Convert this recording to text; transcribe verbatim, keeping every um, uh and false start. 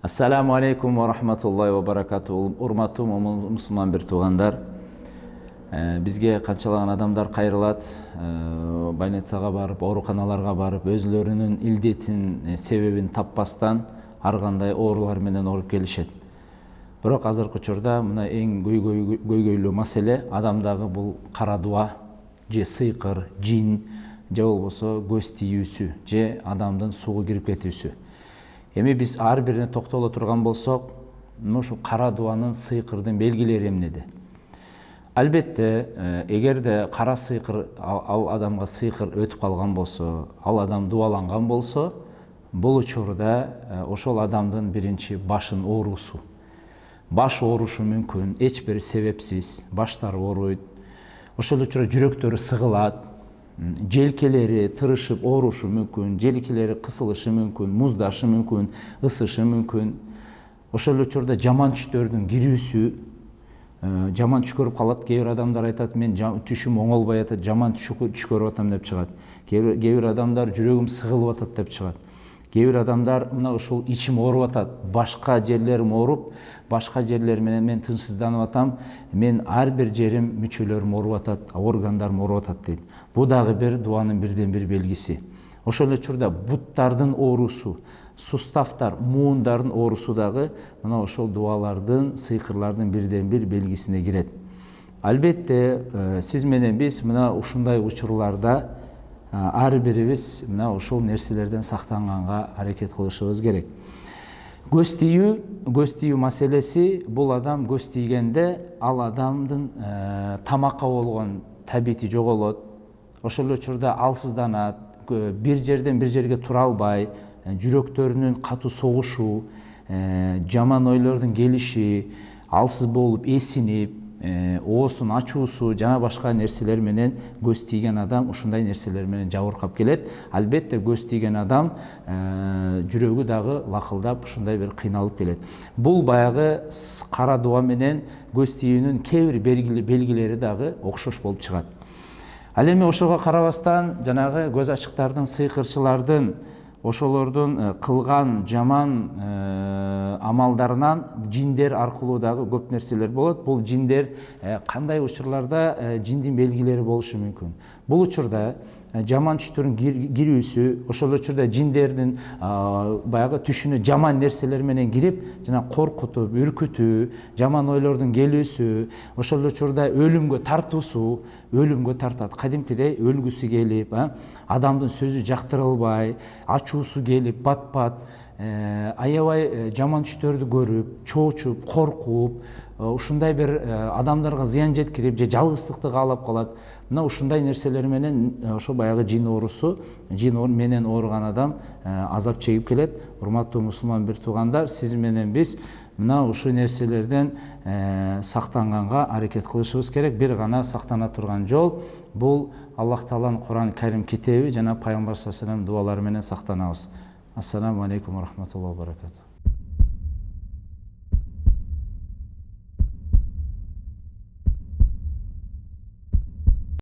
Ассаламу алейкум ва рахматуллахи ва баракату. Урматтуу мусулман бир туугандар, бизге канчалаган адамдар кайрылат, больницага барып, ооруканаларга барып, өзлөрүнүн илдетин, себебин таппастан ар кандай оорулар менен ооруп келишет. Бирок азыркы учурда мына эң көйгөйлүү маселе адамдагы бул кара дуа, же сыйкыр, жин, же болбосо көз тийүүсү, же адамдын суга кирип кетүүсү. Эми биз ар бирине токтоло турган болсок, ушу кара дуанын, сыйкырдын белгилери эмнеде? Албетте, эгерде кара сыйкыр ал адамга сыйкыр өтүп калган болсо, ал адам дуаланган болсо, бул учурда ошол адамдын биринчи башын оорусу. Баш оорушу мүмкүн, эч бир себепсиз, баштары ооруйт. Ошол учурда жүрөктөрү сыгылат, желкелери тырышып оорушу мүмкүн, желкелери кысылышы мүмкүн, муздашы мүмкүн, ысышы мүмкүн. Ошол учурда жаман түштөрдүн кирүүсү, жаман түш көрүп калат. Кээ бир адамдар айтат, мен түшүм оңолбой атат, жаман түш көрүп атам деп чыгат. Кээ бир адамдар жүрөгүм сыгылып атат деп чыгат. Кээ бир адамдар мына ушул ичим ооруп атат, башка жерлерим ооруп, башка жерлер менен мен тынчсызданып атам, мен ар бир жерим, мүчөлөрүм ооруп атат, органдарым ооруп атат дейт. Бул дагы бир дуанын бирден бир белгиси. Ошол учурда буттардын оорусу, суставтар, муундардын оорусу дагы мына ошол дуалардын, сыйкырлардын бирден бир белгисине кирет. Албетте, сиз менен биз мына ушундай учурларда ар бирибиз мына ушул нерселерден сактанганга аракет кылышыбыз керек. Көз тийүү, көз тийүү маселеси, бул адам көз тийгенде ал адамдын тамакка болгон табити жоголот. Ошол учурда алсызданат, бир жерден бир жерге тура албай, жүрөктөрүнүн катуу согушу, жаман ойлордун келиши, алсыз болуп, эсинип, оосун ачуусу жана башка нерселер менен көз тийген адам ушундай нерселер менен жабыркап келет. Албетте, көз тийген адам жүрөгү дагы лакылдап ушундай бир кыйналып келет. Бул баягы кара дуа менен көз тийүүнүн кээ бир белгилери дагы окшош болуп чыгат. Ал эми ошого карабастан жанагы көз ачыктардын, сыйкырчылардын, ошолордун кылган жаман амалдарынан жиндер аркылуу дагы көп нерселер болот. Бул жиндер кандай учурларда жиндин белгилери болушу мүмкүн? Бул учурда жаман түштөрдүн кирүүсү, ошол учурда жиндердин баягы түшүнө жаман нерселер менен кирип, жана коркутуп, үркүтүү, жаман ойлордун келүүсү, ошол учурда өлүмгө тартуусу, өлүмгө тартат. Кадимкидей өлгүсү келип, адамдын сөзү жактырылбай, ачуусу келип, бат-бат, аябай жаман түштөрдү көрүп, чоочуп, коркуп, ушундай бир адамдарга зыян жеткирип, же жалгыздыкты каалап калат. Мына ушундай нерселер менен ошо баягы жин оорусу, жин менен ооруган адам азап чегип келет. Урматтуу мусулман бир туугандар, сиз менен биз мына ушул нерселерден сактанганга аракет кылышыбыз керек. Бир гана сактана турган жол бул Аллах Тааланын Куран Карим китеби жана пайгамбар саллаллаху алейхи ва саллям дуалары менен сактанабыз. Ассаламу алейкум ва рахматуллахи ва баракату.